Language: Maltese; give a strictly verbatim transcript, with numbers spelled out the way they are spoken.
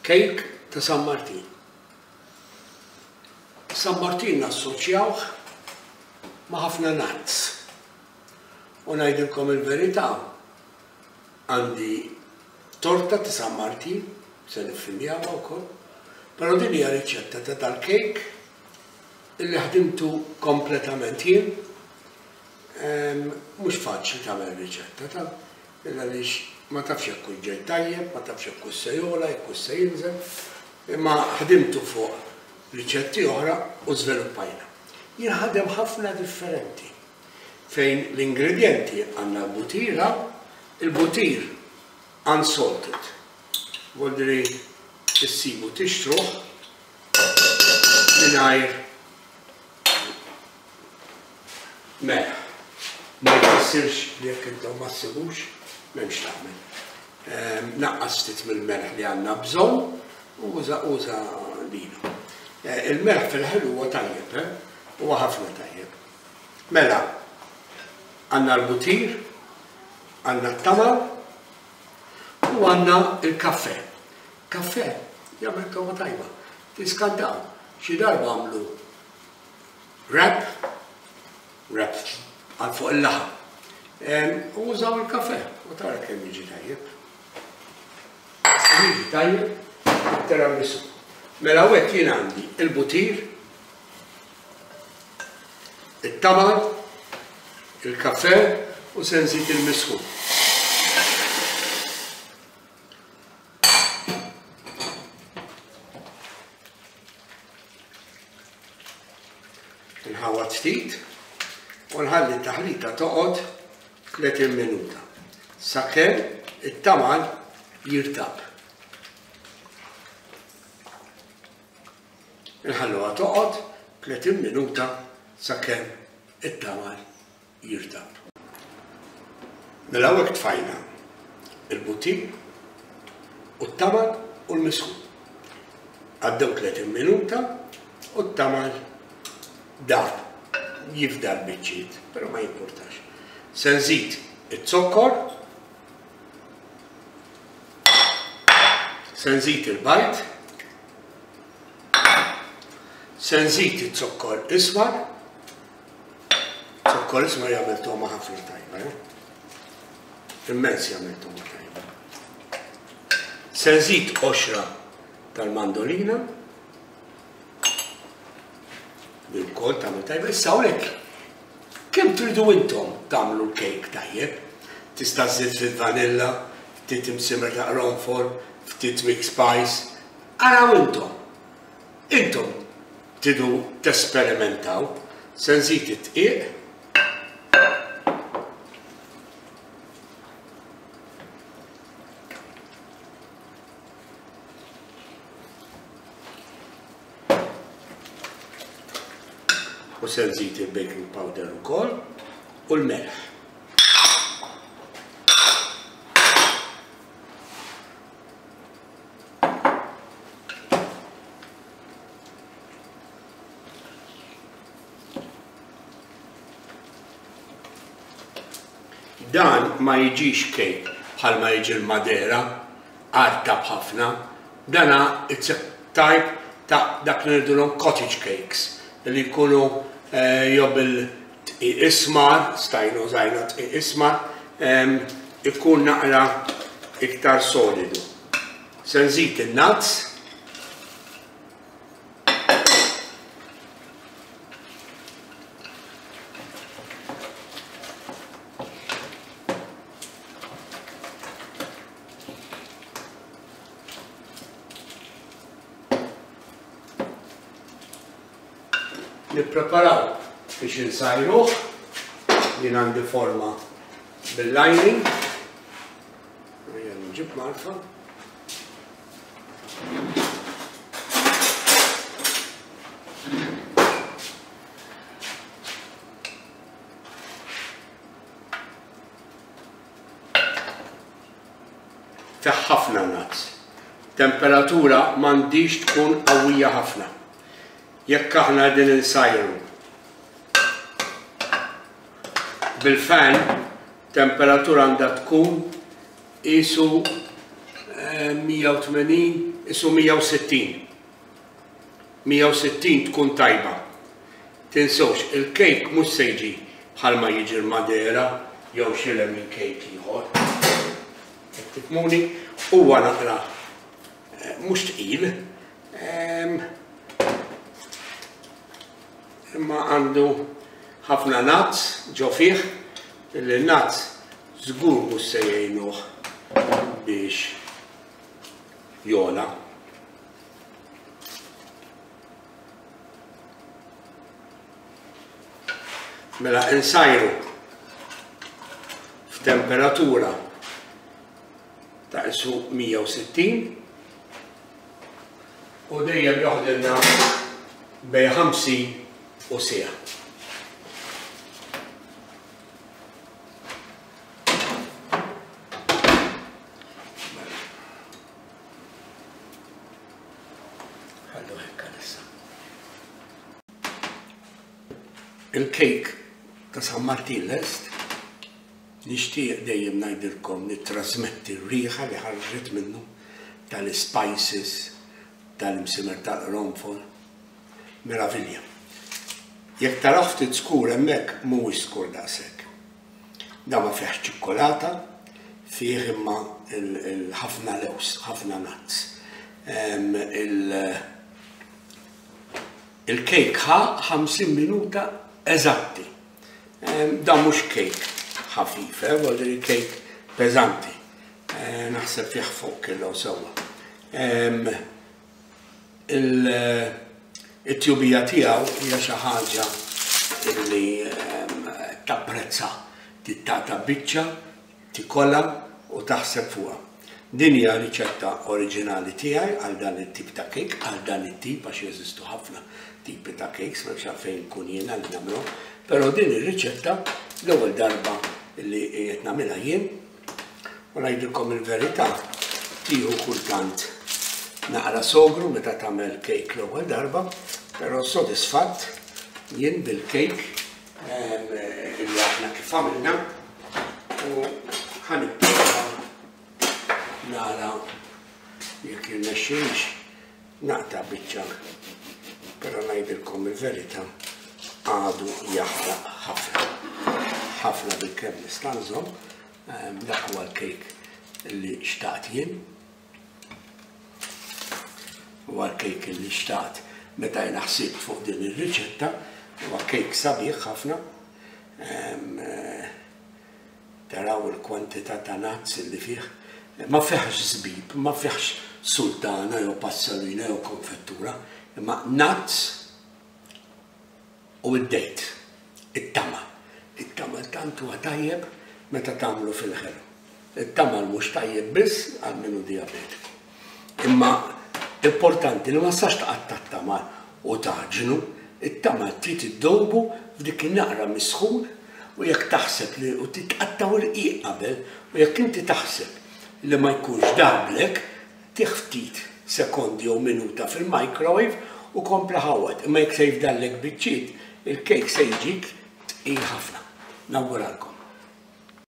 Kejk ta' San Martin. San Martin nassoċjawh ma' ħafna nuts. U ngħidilkom il-verità, għandi torta ta' San Martin, se niffilmjawha wkoll, però din hija riċetta ta' dal-kejk illi ħdimtu kompletament jien. Mhux faċli tagħmel riċetta ta' għaliex ma tafx jekk hux ġej tajjeb, ma tafx jekk hux se jogħla, jekk hux se jinżel, imma ħdimtu fuq riċetti oħra u żviluppajna. Jinħadem ħafna differenti fejn l-ingredjenti għandna l-butira, il-butir unsalted. Voldri issibu tixtruh mingħajr melħ. Ma jfissirx li jekk intom ma ssibux m'hemmx tagħmel. Naqqas ftit mill-melħ li għandna bżonn u uża uża linu. Il-melħ fil-ħelu huwa tajjeb, huwa ħafna tajjeb. Mela, għandna l-butir, għandna t-tamal u għandna il-kaffè. Kaffè jagħmel togħma tajba. Tiskantaw, xi darba għamlu wrap, wrap għal fuq il-laħam. U użaw il-kaffè u tara kemm jiġi tajjeb. Jiġi tajjeb it-tiramisu. Mela hawnhekk jien għandi il-butir, it-tamal, il-kaffè u se nżid il-misħun. Nħawwad ftit u nħalli t-taħlita toqgħod tletin minuta sakemm it-tamal jirtab. Nħalluha toqgħod tletin minuta sakemm it-tamal jirtab. Mela hawnhekk tfajna il-butir u t-tamal u l-misħun. Għaddew tletin minuta u t-tamal dab, jifdal biċċiet, però ma jimpurtax. Se nżid iz-zokkor, se nżid il-bajd, se nżid iz-zokkor ismar. Zokkor ismar jagħmel togħma ħafna tajba, eh? Immens jagħmel togħma tajba. Se nżid qoxra tal-mandolina, bil-kol tagħmel tajba. Issa hawnhekk kemm tridu intom tagħmlu l-kejk tajjeb? Tista' żżid ftit vanilla, ftit imsimer ta' qronfol, ftit mix spice. Araw intom. Intom tridu tesperimentaw. Se nżid it-tqiq. U se nżid il-baking powder ukoll u l-melħ. Dan ma jiġix kejk bħalma jiġi l-Madera, artab ħafna. Dana it's a type ta' dak li ngħidulhom cottage cakes li jkunu jew bil-tqiq ismar, stajnu użajna tqiq ismar, ikun naqra iktar solidu. Se nżid in-nuts. Nippreparaw biex insajruh. Jien għandi forma bil-lining. Ejja nġib marfa. Fih ħafna nuts. Temperatura m'għandix tkun qawwija ħafna. Jekk aħna qegħdin insajru bil-fan, temperatura għandha tkun qisu mija u tmenin, isu mija u sittin. mija u sittin tkun tajba. Tinsewx, il-kejk mhux se jiġi bħalma jiġi l-Madera jew xi lemon cake ieħor. Qed tifhmuni? Huwa naqra, eh, mhux tqil, ehm, imma għandu ħafna nuts ġo fih, illi nuts żgur mhux se jgħinuh biex jola. Mela insajru f'temperatura ta' isu mija u sittin u dejjem joħdilna bej ħamsin u siegħa. Ħallu hekk għalissa. Il-kejk ta' San Martin lest, nixtieq dejjem ngħidilkom nittrasmetti r-riħa li ħarġet minnu tal-spices, tal-imsimer tal-qronfol. Meravilja. Jekk taraw ftit skur hemmhekk mhuwiex skur daqshekk. Da ma fihx ċikkolata, fih imma ħafna lews, ħafna nuts. Em, il-, Il-kejk ħa ħamsin minuta eżatti. Em, da mhux kejk ħafif, eh, vuol dire kejk peżanti. Eh, naħseb fih fuq kilo sewwa. Em, il-, it-tjubija tiegħu hija xi ħaġa li, em, tapprezza, tittaqta' biċċa, tikolla u taħseb fuqha. Din hija riċetta oriġinali tiegħi għal dan it-tip ta' kejk, għal dan it-tip għax jeżistu ħafna tipi ta' kejks, m'hemmx għalfejn nkun jiena li nagħmlu, però din ir-riċetta l-ewwel darba li qed nagħmilha jien u ngħidilkom il-verità, tieħu kultant naqra sogru meta tagħmel kejk l-ewwel darba, però sodisfatt jien bil-kejk, em, li aħna kif għamilna u ħanipprova nara jekk jirnexxilix naqta' biċċa, però ngħidilkom il-verità għadu jaħraq ħafna. Ħafna bil-kemm nista' nżomm, em, dak huwa l-kejk li xtaqt jien. Huwa l-kejk li xtaqt meta jiena ħsibt fuq din ir-riċetta, huwa kejk sabiħ ħafna. Em, eh, taraw il-kwantità ta' nuts li fih. Ma fihx żbib, ma fihx sultana jew passalina jew konfettura, imma nuts u id-dejt, it-tama. It-tama tant huwa tajjeb meta tagħmlu fil-ħelu. It-tama mhux tajjeb biss għal min hu diabetiku. Imma importanti li ma tistax taqatta' t-tama u taġnu, it-tama trid iddowbu f'dik in-naqra misħun u jekk taħseb li u titqattaw irqiq qabel u jekk inti taħseb li ma jkunx dablek, tih ftit sekondi jew minuta fil-microwave u kompli ħawwad. Imma jekk se jifdallek biċċiet, il-kejk se jiġik tqil ħafna. Nawguralkom.